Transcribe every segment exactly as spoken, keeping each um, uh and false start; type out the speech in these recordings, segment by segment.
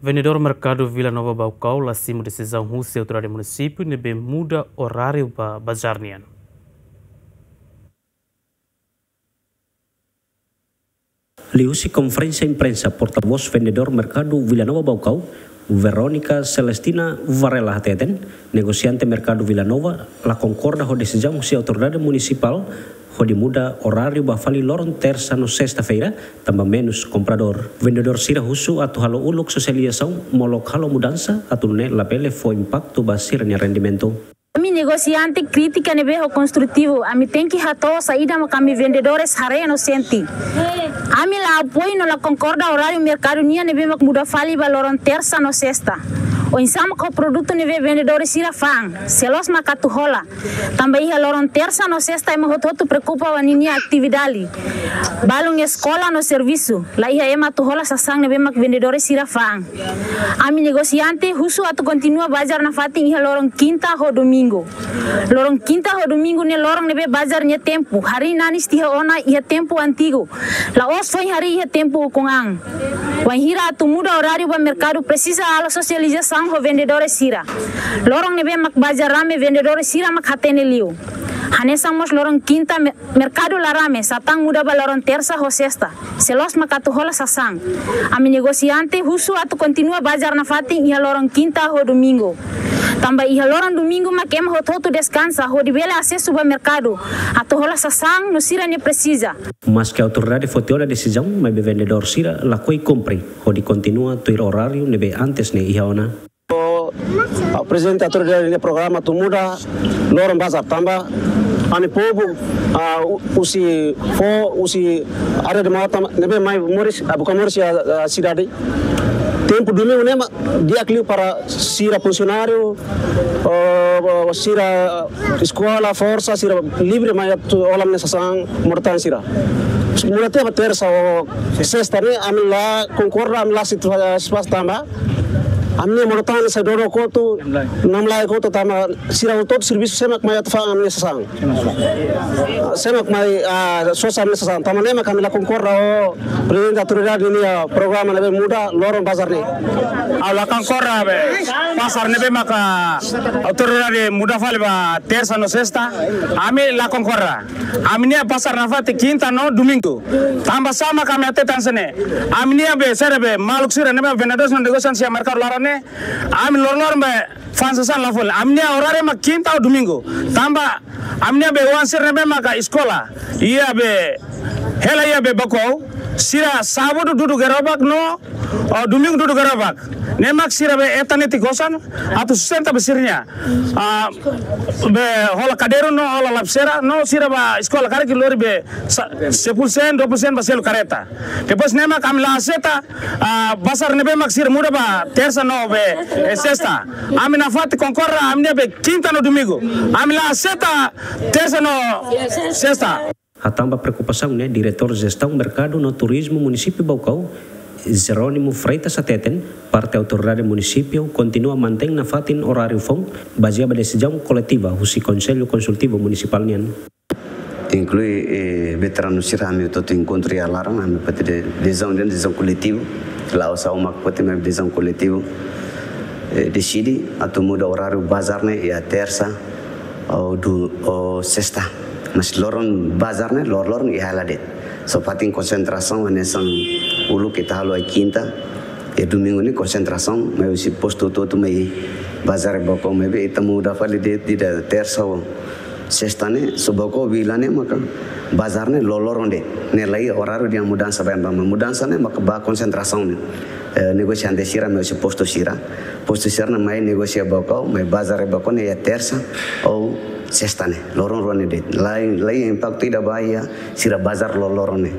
Vendedór Merkadu Vila Nova Baucau la simu desizaun husi autoridade munisípiu ne'ebé muda oráriu ba bazár nian. Liuhusi konferénsia imprensa, portavós vendedór Merkadu Vila Nova Baucau, Verónica Celestina Varela hateten, negosiante Merkadu Vila Nova la konkorda ho desizaun husi autoridade munisipál hodi muda oráriu ba fali loron tersa no sesta-feira, tanba menus kompradór. Vendedór sira husu atu halo uluk sosializasaun molok halo mudansa atu nune'e labele fó impaktu ba sira-nia rendimentu. Ami negosiante kritika ne'ebé ho konstrutivu, ami tenke hato'o saida mak ami vendedores haree no sente. Ami la apoiu no la konkorda oráriu merkadu nian ne'ebé mak muda fali ba loron tersa no sesta. Oinsá mak ho produtu ne'ebé vendedores sira fa'an, se loos mak atu hola. Tanba iha loron tersa no sesta ema hotu-hotu preokupa ba ninia atividade. Balun eskola no servisu, la iha ema atu hola sasán ne'ebé mak vendedores sira fa'an. Ami negosiante husu atu kontinua bazár nafatin iha loron kinta ho domingu. Loron kinta ho domingu ne'e loron ne'ebé bazár nia tempu, harii nanis tiha ona iha tempu antigu. La'ós foin harii iha tempu ukun an. Wainhira atu muda oráriu ba merkadu presiza halo sosializasaun ho vendedores sira. Loron ne'ebé mak bazár rame vendedores sira mak hatene liu. Hanesan mós loron kinta me-, merkadu la rame, satán muda ba loron tersa ho sesta. Se loos mak atu hola sasán. Ami negosiante husu atu kontinua bazár nafatin iha loron kinta ho domingu. Tanba iha loron domingu mak ema hotu-hotu deskansa hodi bele asesu ba merkadu atu hola sasán no sira-nia presiza. Maske autoridade foti ona desizaun, maibé vendedór sira lakohi kumpre hodi kontinua tuir oráriu ne'ebé antes ne'e iha ona. O, ah, prezidente autoridade nia programa atu muda loron bazár tanba ami povu, ah, u-, husi fó, husi área de mata ne'ebé mai moris, ah, buka moris iha, ah, sidade. Tempu domingu ne'e mak di'ak liu para sira funsionáriu, o, o, sira eskola, forsa, sira livre mai atu hola nia sasán moris tan sira. Muda tiha ba tersa ou sesta ne'e, ami la konkorda, ami la situa-, satisfás tanba ami-nia moris tan sai dodok hotu, namlaek hotu tanba sira hotu-hotu servisu, sé mak mai atu fa'an ami-nia sasán. Sé mak mai, ah, sosa ami-nia sasán. Tanba ne'e mak ami la konkorda ho prezidente autoridade nia programa ne'ebé muda loron bazár ne'e. Ha'u la konkorda be pasar ne'ebé maka autoridade muda fali ba tersa no sesta. Ami la konkorda. Ami-nia pasar nafatin kinta no domingu. Tanba sá mak ami hatete hanesan ne'e? Ami-nia be sira be maluk sira ne'ebé vendedores no negosiante iha merkadu laran ne'e. Ami loron-loron be fa'an sasán la fó. Ami-nia oráriu mak kinta ou domingu. Tanba ami-nia be oan sira ne'ebé maka eskola iha be hela iha be Baucau, sira sábadu dudu gerobak no, oh, domingu dudu gerobak. Ne'e mak sira be hetan netik osan atu sustenta be sira-nia, ah, be hola kadeiru no hola lapiseira no sira ba eskola karik lori be sa-, sepuluh sen, dua puluh sen ba selu kareta. Depois ne'e mak ami la aseita, ah, bazár ne'ebé mak sira muda ba tersa no be, eh, sesta. Ami nafatin konkorda ami-nia be kinta no domingu. Ami la aseita tersa no sesta. Hatán ba preokupasaun ne'e, Diretór Jestaun Merkadu no Turizmu Munisípiu Baucau, Jerónimo Freitas hateten, parte autoridade munisípiu kontinua mantein nafatin oráriu foun, bazeia ba desizaun koletiva husi Konsellu Konsultivu Munisipál nian. Inklui, eh, veteranu sira, ami hotu-hotu enkontru iha laran, ami foti de-, desizaun, desizaun koletivu, la'ós ha'u mak foti, maibé desizaun koletivu, eh, deside atu muda oráriu bazár ne'e iha tersa ou du-, ou sesta. Mas loron bazár ne'e, lor-, loron iha hela de'it. Só fatin konsentrasaun, hanesan uluk ita halo iha kinta, iha domingu ne'e konsentrasaun, mai husi postu hotu-hotu mai bazár Baucau, maibé ita muda fali de'it, ida tersa ou sesta ne'e, só Baucau vila ne'e maka bazár ne'e loroloron de'it. Ne'e laiha oráriu nia mudansa ba ema, mudansa ne'e maka ba konsentrasaun ne'e. Eh, negosiante sira mai husi postu sira. Postu sira ne'e mai negosia Baucau, mai bazár Baucau ne'e iha tersa ou sesta ne'e. Loron rua ne'e de'it. Laiha, laiha impaktu ida ba iha sira bazár loroloron ne'e.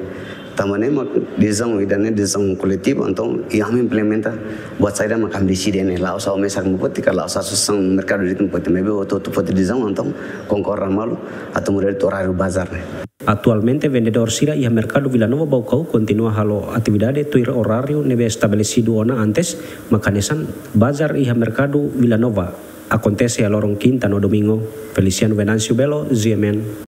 Tanba ne'e mak desizaun ida-ne'e desizaun koletivu, entaun, i ami implementa buat saida mak ami deside ne'e, la'ós ha'u mesak mak foti ka la'ós asosiasaun merkadu de'it mak foti, maibé hotu-hotu foti desizaun, entaun, konkorda malu atu muda de'it oráriu bazár ne'e. Atualmente, vendedór sira iha Merkadu Vila Nova Baucau kontinua halo atividade tuir oráriu ne'ebé estabelesidu ona antes, mak hanesan bazár iha Merkadu Vila Nova akontese iha loron kinta no domingu. Feliciano Venâncio Belo, G M N.